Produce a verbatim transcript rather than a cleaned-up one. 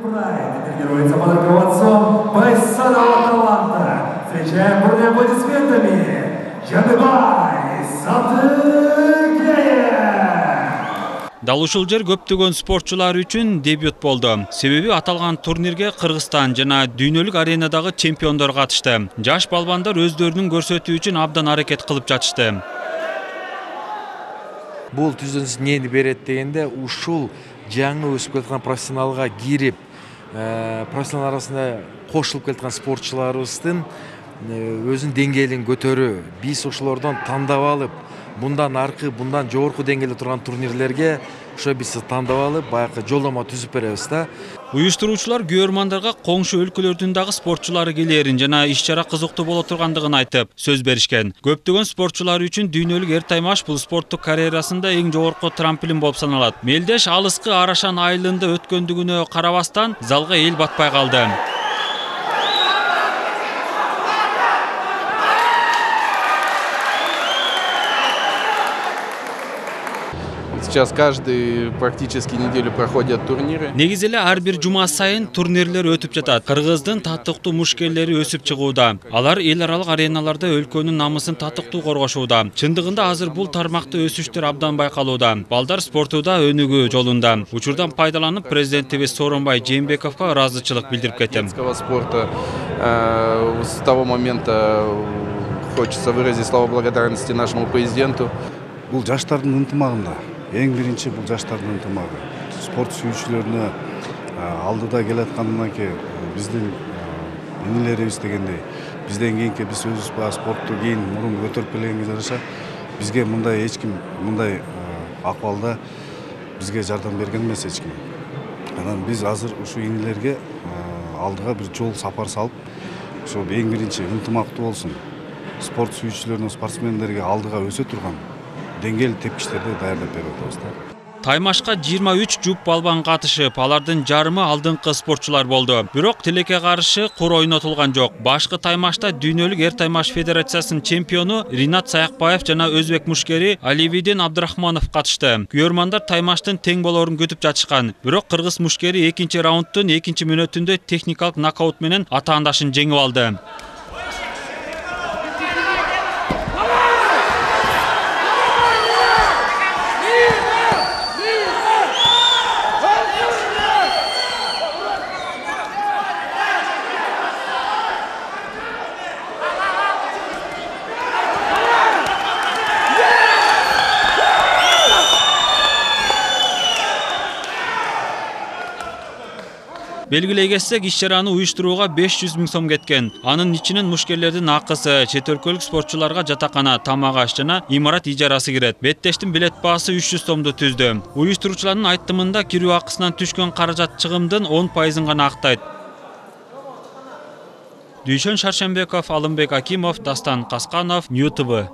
Прайд тренируется под руководством бойцового таланта. Встречаем бурными аплодисментами Жаныбай Садыкеев. Дал ушул жер көптөгөн спортчулар үчүн дебют болду. Себеби аталган турнирге Кыргызстан жана дүйнөлүк аренадагы чемпиондор катышты. Жаш балбандар өздөрүнүн көрсөтүү үчүн абдан аракет кылып жатышты. Бул түзүнүш эмнени берет дегенде, ушул жаңы өсүп келаткан профессионалга кирип, профессионал арасында кошулуп келаткан спортчуларыбыздын өзүнүн деңгээлин көтөрүү. Биз ошолордон тандап алып, bundan arkı, bundan жогорку деңгээлде турган турнирлерге ошо биз тандап алып, баягы жолдомо түзүп беребиз да. Уюштуруучулар күйөрмандарга коңшу өлкөлөрдүн дагы спортчулары келерин жана иш-чара кызыктуу боло тургандыгын айтып, сөз беришкен. Көптөгөн спортчулар үчүн дүйнөлүк эр таймаш бул спорттук карьерасында эң жогорку трамплин болуп саналат. Мелдеш алыскы Арашан айылында өткөндүгүнө карабастан залга эл батпай калды. Сейчас каждый практически неделю проходят турниры. Негизи эле ар бир жума сайын турнирлер өтүп жатат. Кыргыздын татыктуу мушкерлери өсүп чыгууда. Алар эл аралык ареналарда өлкөнүн намысын татыктуу коргошууда. Чындыгында азыр бул тармакта өсүштөр абдан байкалууда. Балдар спортуда өнүгүү жолунда. Учурдан пайдаланып, президентибиз Сооронбай Жээнбековго ыраазычылык билдирип кеттим. Спорта с того момента хочется выразить слова благодарности нашему президенту. Бул жаштардын ынтымагында. Эң биринчи бул жаштардын ынтымагы. Спорт сүйүүчүлөрүнө алдыда келаткандан кийин биздин инилерибиз дегендей, бизден кийинки биз өзүбүз баягы спортту кийин мурун көтөрүп келгенге жараша бизге мындай эч ким мындай акыбалда бизге жардам берген эмес эч ким. Анан биз азыр ушул инилерге алдыга бир жол сапар салып, ошо эң биринчи ынтымактуу болсун. Спорт сүйүүчүлөрүнө, спортсмендерге алдыга өсө турган деңгээлдүү тепкичтерди даярдап берип атабыз да. Таймашка жыйырма үч жуп балбан катышып, алардын жарымы алдыңкы спортчулар болду. Бирок тилекке каршы кур ойнотулган жок. Башкы таймашта дүйнөлүк эр таймаш федерациясынын чемпиону Ринат Саякбаев жана өзбек мушкери Аливидин Абдрахманов катышты. Күйөрмандар таймаштын тең болорун күтүп жатышкан. Бирок кыргыз мушкери экинчи раундтун экинчи мүнөтүндө техникалык нокаут менен атаандашын жеңип алды. Белгилей кетсек, иш-чараны уюштурууга беш жүз миң сом кеткен. Анын ичинен мушкерлердин акысы, чет өлкөлүк спортчуларга жатакана, тамак аш жана имарат ижарасы кирет. Беттештин билет баасы үч жүз сомду түздү. Уюштуруучулардын айтымында кирүү акысынан түшкөн каражат чыгымдын он пайызын гана актайт. Дүйшөн Шаршембеков, Алымбек Акимов, Дастан Касканов, Нью тэ вэ.